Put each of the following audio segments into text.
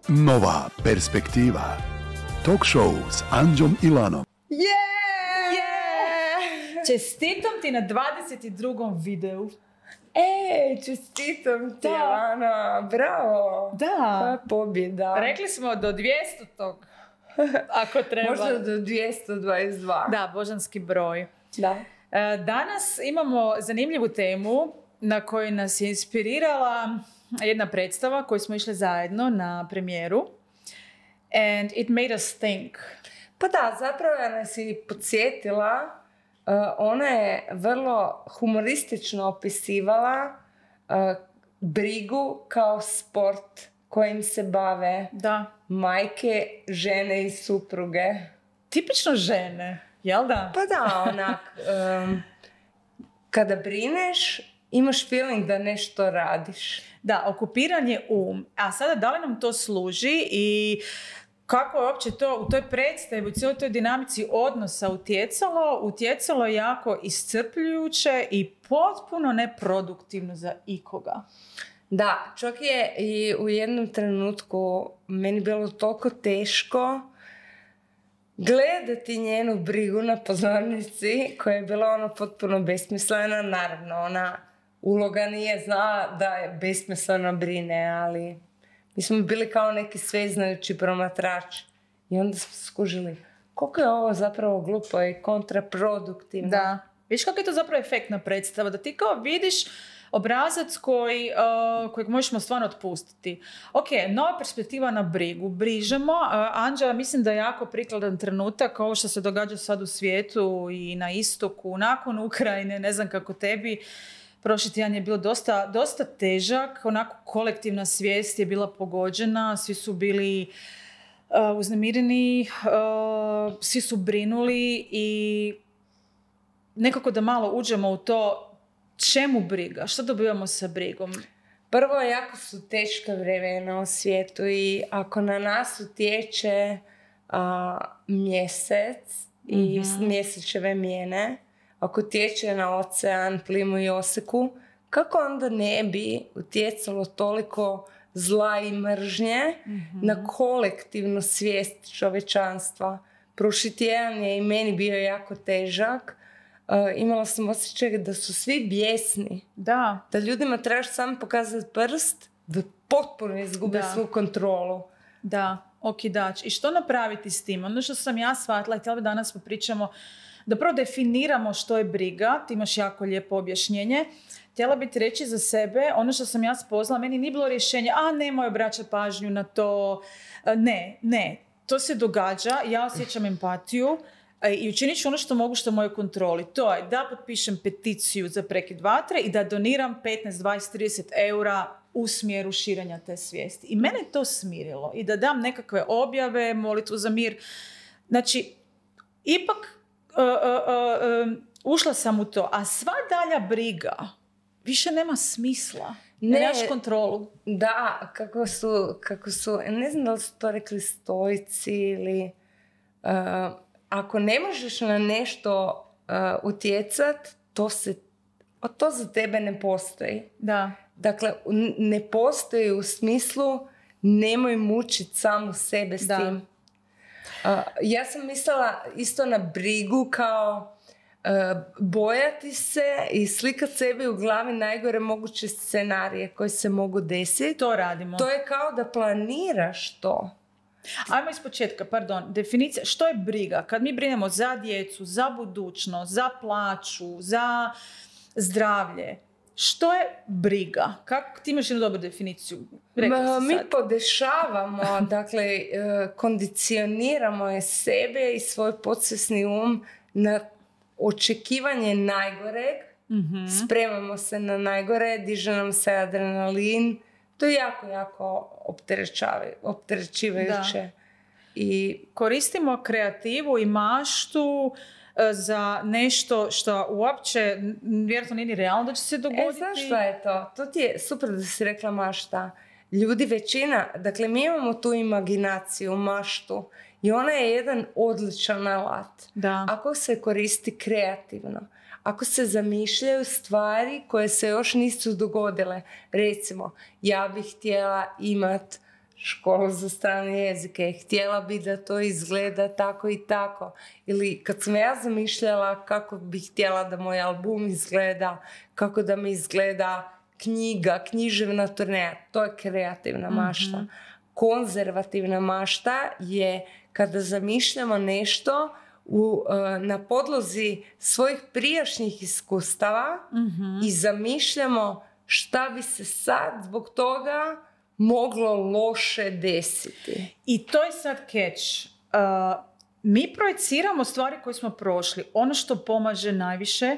Nova perspektiva. Talk show s Anđom i Lanom. Čestitam ti na 22. videu. Čestitam ti, Lana. Bravo. Da. Koja pobjeda. Rekli smo do 200. Ako treba. Možda do 222. Da, božanski broj. Da. Danas imamo zanimljivu temu na kojoj nas je inspirirala jedna predstava koju smo išli zajedno na premijeru. And it made us think. Pa da, zapravo nas je podsjetila. Ona je vrlo humoristično opisivala brigu kao sport kojim se bave majke, žene i supruge. Tipično žene, jel da? Pa da, onak, kada brineš, imaš feeling da nešto radiš. Da, okupiran je A sada da li nam to služi i kako je uopće to u toj predstavi, u cijeloj toj dinamici odnosa utjecalo je jako iscrpljujuće i potpuno neproduktivno za ikoga. Da, čak je i u jednom trenutku meni bilo toliko teško gledati njenu brigu na pozornici koja je bila potpuno besmislena. Naravno, ona uloga nije znala da je besmisleno brine, ali mi smo bili kao neki sveznajući promatrači. I onda smo skužili koliko je ovo zapravo glupo i kontraproduktivno. Da. Viš kako je to zapravo efektna predstava? Da ti kao vidiš obrazac kojeg možemo stvarno otpustiti. Ok, nova perspektiva na brigu. Brižemo. Anđa, mislim da je jako prikladan trenutak ovo što se događa sad u svijetu i na istoku, nakon Ukrajine, ne znam kako tebi. Prošli tjedan je bilo dosta težak, onako kolektivna svijest je bila pogođena, svi su bili uznemireni, svi su brinuli i nekako da malo uđemo u to čemu briga, što dobivamo sa brigom. Prvo, jako su teška vremena u svijetu i ako na nas utječe mjesec i mjesečeve mijene, ako tječe na ocean, plimu i oseku, kako onda ne bi utjecalo toliko zla i mržnje na kolektivnu svijest čovječanstva? Prošli tjedan je i meni bio jako težak. Imala sam osjećaj da su svi bijesni. Da ljudima trebaš samo pokazati prst da potpuno izgube svu kontrolu. Da, okidač. I što napraviti s tim? Ono što sam ja shvatila i htjela bi danas popričamo da prvo definiramo što je briga, ti imaš jako lijepo objašnjenje. Htjela bi ti reći za sebe, ono što sam ja spoznala, meni nije bilo rješenje, nemoj obraćati pažnju na to. Ne, to se događa, ja osjećam empatiju i učinit ću ono što mogu, što je u mojoj kontroli. To je da potpišem peticiju za prekid vatre i da doniram 15, 20, 30 eura u smjeru širenja te svijesti. I mene je to smirilo. I da dam nekakve objave, molitvu za mir. Znači, ipak ušla sam u to, a sva dalja briga više nema smisla. Nemaš kontrolu. Da, kako su, ne znam da li su to rekli stoici ili ako ne možeš na nešto utjecat, to za tebe ne postoji. Da. Dakle, ne postoji u smislu nemoj mučiti samu sebe s tim. Ja sam mislila isto na brigu kao bojati se i slikat sebi u glavi najgore moguće scenarije koji se mogu desiti. To radimo. To je kao da planiraš to. Ajmo iz početka, definicija. Što je briga? Kad mi brinemo za djecu, za budućnost, za plaću, za zdravlje, što je briga? Kako ti imaš jednu dobru definiciju? Mi podešavamo, dakle, kondicioniramo je sebe i svoj podsvjesni na očekivanje najgoreg, spremamo se na najgore, diže nam se adrenalin. To je jako, jako opterećivajuće. I koristimo kreativu i maštu za nešto što uopće vjerojatno nije ni realno da će se dogoditi. Znaš šta je to? To ti je super da si rekla mašta. Ljudi većina, dakle mi imamo tu imaginaciju, maštu i ona je jedan odličan alat. Da. Ako se koristi kreativno, ako se zamišljaju stvari koje se još nisu dogodile. Recimo, ja bih htjela imat školu za strane jezike. Htjela bi da to izgleda tako i tako. Ili kad sam ja zamišljala kako bih htjela da moj album izgleda, kako da mi izgleda knjiga, književna turneja, to je kreativna mašta. Konzervativna mašta je kada zamišljamo nešto na podlozi svojih prijašnjih iskustava i zamišljamo šta bi se sad zbog toga moglo loše desiti. I to je sad catch. Mi projeciramo stvari koje smo prošli. Ono što pomaže najviše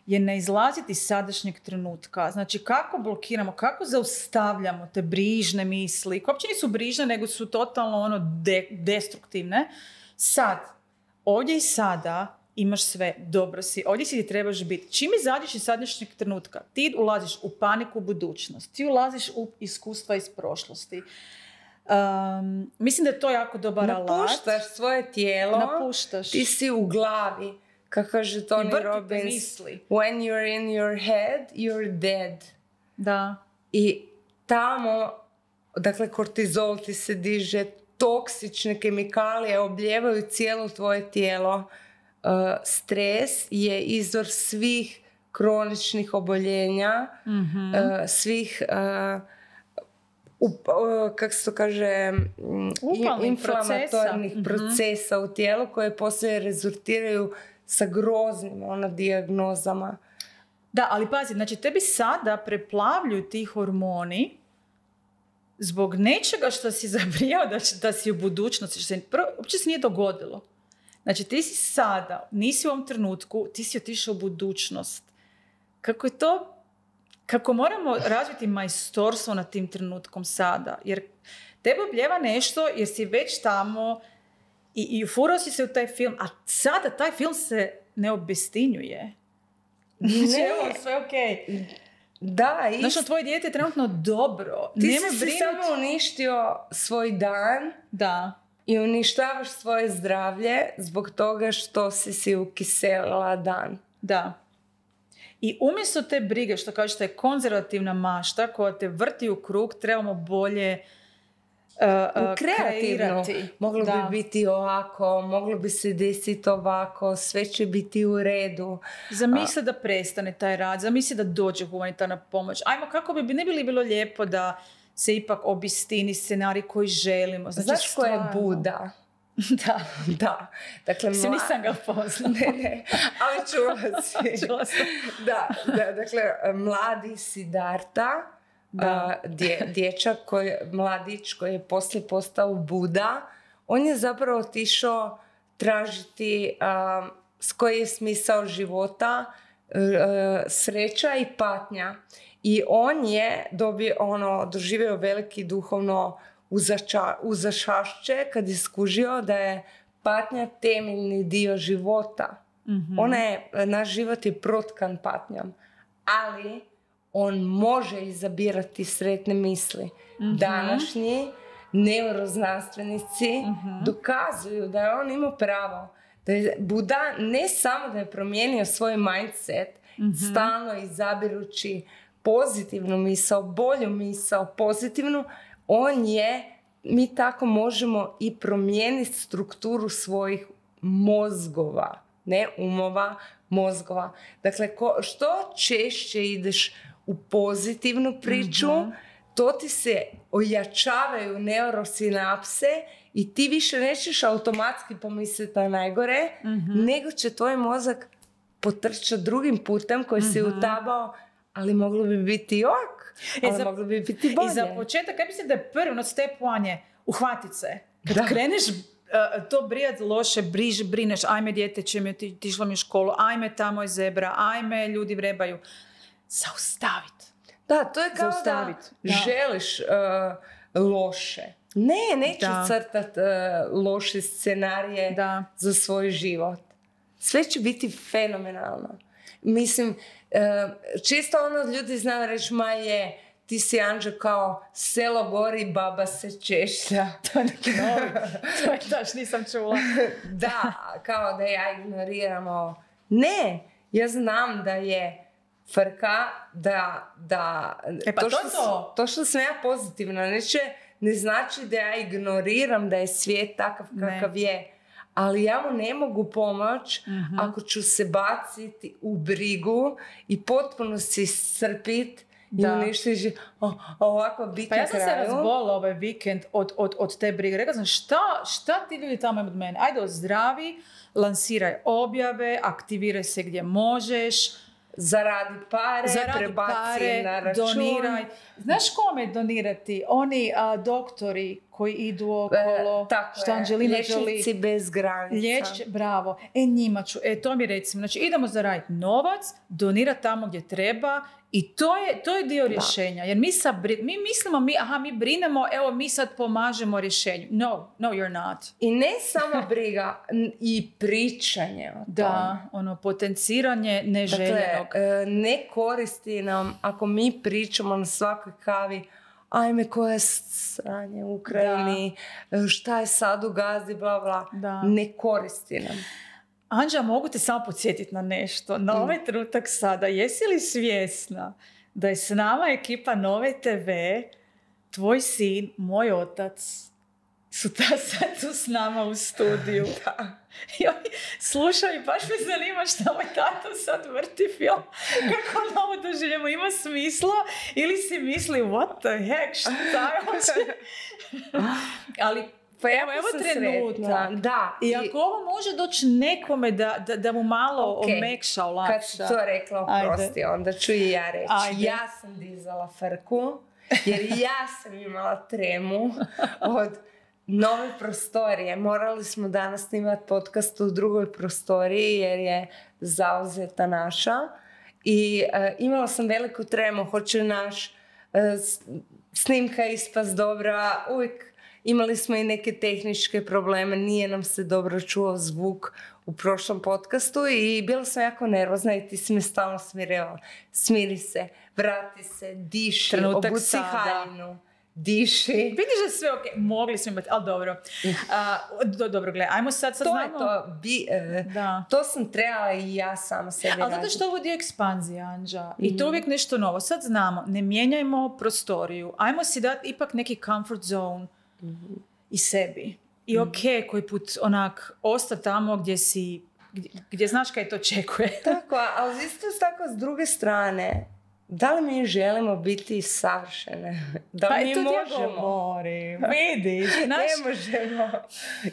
je ne izlaziti iz sadašnjeg trenutka. Znači, kako blokiramo, kako zaustavljamo te brižne misli, koje uopće nisu brižne, nego su totalno destruktivne. Sad, ovdje i sada imaš sve, dobro si, ovdje si ti trebaš biti. Čim izađeš iz sadašnjeg trenutka, ti ulaziš u paniku budućnost, ti ulaziš u iskustva iz prošlosti. Mislim da je to jako dobar alat. Napuštaš svoje tijelo, ti si u glavi. Kako kaže Tony Robbins, when you're in your head, you're dead. Da. I tamo, dakle, kortizol ti se diže, toksične kemikalije obljevaju cijelo tvoje tijelo. Stres je izvor svih kroničnih oboljenja, svih kako se to kaže, inflamatornih procesa u tijelu koje poslije rezultiraju sa groznim dijagnozama. Da, ali pazi, znači tebi sada preplavljuju ti hormoni zbog nečega što si zabrijao da si u budućnosti, što se uopće se nije dogodilo. Znači ti si sada, nisi u ovom trenutku, ti si otišao u budućnost. Kako je to, kako moramo razviti majstorstvo nad tim trenutkom sada, jer tebe obljeva nešto jer si već tamo i ufurao si se u taj film, a sada taj film se ne obestinjuje. Znači, evo, sve okej. Da, znači, tvoje dijete je trenutno dobro. Ti si samo uništio svoj dan. Da. I uništavaš svoje zdravlje zbog toga što si ukiselila dan. Da. I umjesto te brige, što kažeš, je konzervativna mašta koja te vrti u krug, trebamo bolje kreirati. Moglo bi biti ovako, moglo bi se desiti ovako, sve će biti u redu. Zamisli da prestane taj rad, zamisli da dođe humanitarna pomoć. Ajmo, kako bi ne bi li bilo lijepo da se ipak obistini scenarij koji želimo. Znači, znaš ko je Buda? Da. Dakle, nisam ga poznala. Ne, ali čula si. Dakle, mladi Siddhartha, dječak, mladić koji je poslije postao Buda, on je zapravo otišao tražiti s koji je smisao života, sreća i patnja. I on je doživio veliki duhovno uzašašće kad je skužio da je patnja temeljni dio života. Naš život je protkan patnjom, ali on može izabirati sretne misli. Današnji neuroznanstvenici dokazuju da je on imao pravo. Da je Buda ne samo da je promijenio svoj mindset, stalno izabirući pozitivnu misao, bolju misao, pozitivnu, mi tako možemo i promijeniti strukturu svojih mozgova, ne umova, mozgova. Dakle, što češće ideš u pozitivnu priču, to ti se ojačavaju neurosinapse i ti više nećeš automatski pomisliti na najgore, nego će tvoj mozak potrčati drugim putem koji si utabao, ali moglo bi biti moglo bi biti bolje. I za početak, kaj mislim da je prvi step one je uhvatit se. Kad kreneš to brijat loše, brineš, ajme dijete će mi otišlo mi u školu, ajme tamo je zebra, ajme ljudi vrebaju. Zaustavit. Da, to je kao da želiš loše. Neću crtat loše scenarije za svoj život. Sve će biti fenomenalno. Mislim, čisto ljudi znaju reći, ti si Anđe kao selo gori, baba se češlja. To je neki novi. To je daš, nisam čula. Da, kao da ja ignoriramo. Ne, ja znam da je frka, da to što sam ja pozitivna, ne znači da ja ignoriram da je svijet takav kakav je. Ali ja mu ne mogu pomoći ako ću se baciti u brigu i potpuno se iscrpiti i uništiti ovako biti kraju. Pa ja sam se razbolila ovaj vikend od te brige. Rekla sam, šta ti ljudi tamo od mene? Ajde, ozdravi, lansiraj objave, aktiviraj se gdje možeš. Zaradi pare, na račun. Doniraj. Znaš kome donirati? Oni doktori koji idu okolo. Tako je, liječnici bez granica. Bravo. Njima ću, to mi recimo. Znači, idemo zaraditi novac, donirati tamo gdje treba i to je dio rješenja. Jer mi mislimo, mi brinemo, evo mi sad pomažemo rješenju. No, you're not. I ne samo briga, i pričanje o tom. Potenciranje neželjenog. Dakle, ne koristi nam ako mi pričamo na svakoj kavi, ajme koje sranje u Ukrajini, šta je sad u Gazi, bla bla. Ne koristi nam. Anđa, mogu te samo podsjetiti na nešto. Na ovaj trenutak sada, jesi li svjesna da je s nama ekipa Nove TV, tvoj sin, moj otac, su sad tu s nama u studiju. Slušaj, baš me zanima šta moj tato sad vrti film. Kako on ovo doživljamo? Ima smisla? Ili si misli, what the heck, šta je hoće? Ali pa evo trenutak. Da. I ako ovo može doći nekome da mu malo omekša, olakša. Kad si to rekla, oprosti, onda ću i ja reći. Ja sam dizala frku, jer ja sam imala tremu od nove prostorije. Morali smo danas snimati podcast u drugoj prostoriji jer je zauzeta naša. I imala sam veliku tremu. Hoće naš snimka ispast dobra. Uvijek imali smo i neke tehničke probleme. Nije nam se dobro čuo zvuk u prošlom podcastu i bila sam jako nervozna i ti si me stalno smirivala. Smiri se, vrati se, diši, obuci haljinu. Diši. Vidiš da sve ok, mogli smo imati, ali dobro. Dobro, gledaj, ajmo sad to znamo. To sam trebala i ja sama sebi raditi. Ali zato što ovo dio ekspanzije, Anđa. I to je uvijek nešto novo. Sad znamo, ne mijenjajmo prostoriju. Ajmo si dati ipak neki comfort zone i sebi. I koji put onak osta tamo gdje znaš kaj to očekuje. Tako, ali isto tako s druge strane, da li mi želimo biti savršene? Da li mi možemo? Vidiš, ne možemo.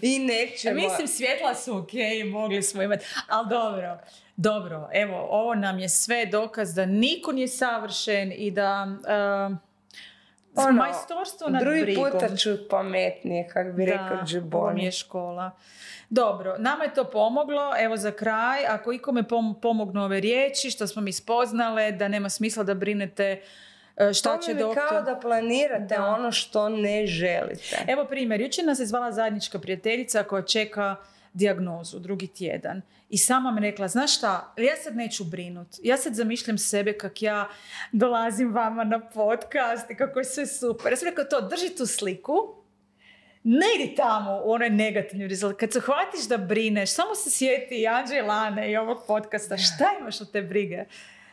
I nećemo. Mislim, svjetla su ok, mogli smo imati. Ali dobro. Evo, ovo nam je sve dokaz da niko nije savršen i da majstorstvo nad brigom. Drugi puta ću pametnije, kak bi rekao Džiboni. Ovo mi je škola. Dobro, nama je to pomoglo. Evo za kraj, ako ikome pomognu ove riječi, što smo mi spoznale, da nema smisla da brinete šta će doktor... kao da planirate ono što ne želite. Evo primjer, jučer nas je zvala zajednička prijateljica koja čeka dijagnozu, drugi tjedan. I sama mi rekla, znaš šta, ja sad neću brinut. Ja sad zamišljam sebe kak ja dolazim vama na podcast i kako je sve super. Ja sam rekla to, drži tu sliku, ne idi tamo u onoj negativni rezultat. Kad se hvatiš da brineš, samo se sjeti Anđe i Lane i ovog podcasta. Šta imaš od te brige?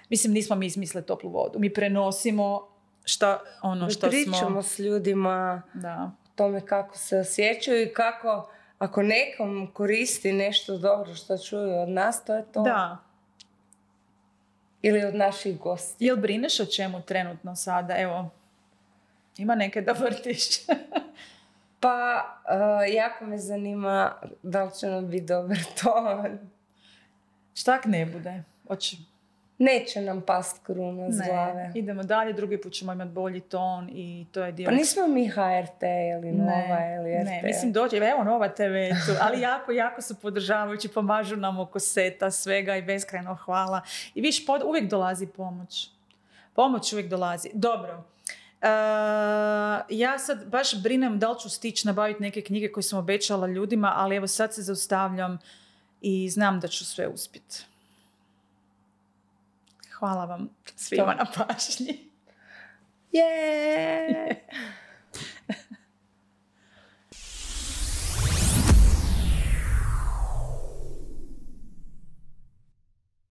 Mislim, nismo mi izmislili toplu vodu. Mi prenosimo što smo... Pričamo s ljudima o tome kako se osjećaju i kako, ako nekom koristi nešto dobro što čuju od nas, to je to. Da. Ili od naših gosti. Jel brineš o čemu trenutno sada? Evo, ima neke da vrtiš. Pa, jako me zanima da li će nam biti dobar ton. Šta ak ne bude? Neće nam past kruna s glave. Idemo dalje, drugi put ćemo imati bolji ton i to je dio... Pa nismo mi HRT ili Nova ili RTL. Ne, mislim dođe, evo Nova TV tu, ali jako su podržavajući, pomažu nam oko seta, svega i beskrajno hvala. I viš, uvijek dolazi pomoć. Pomoć uvijek dolazi. Dobro. Ja sad baš brinem da li ću stići nabaviti neke knjige koje sam obećala ljudima, ali evo sad se zaustavljam i znam da ću sve uspjeti. Hvala vam svima na pažnji. Yeah.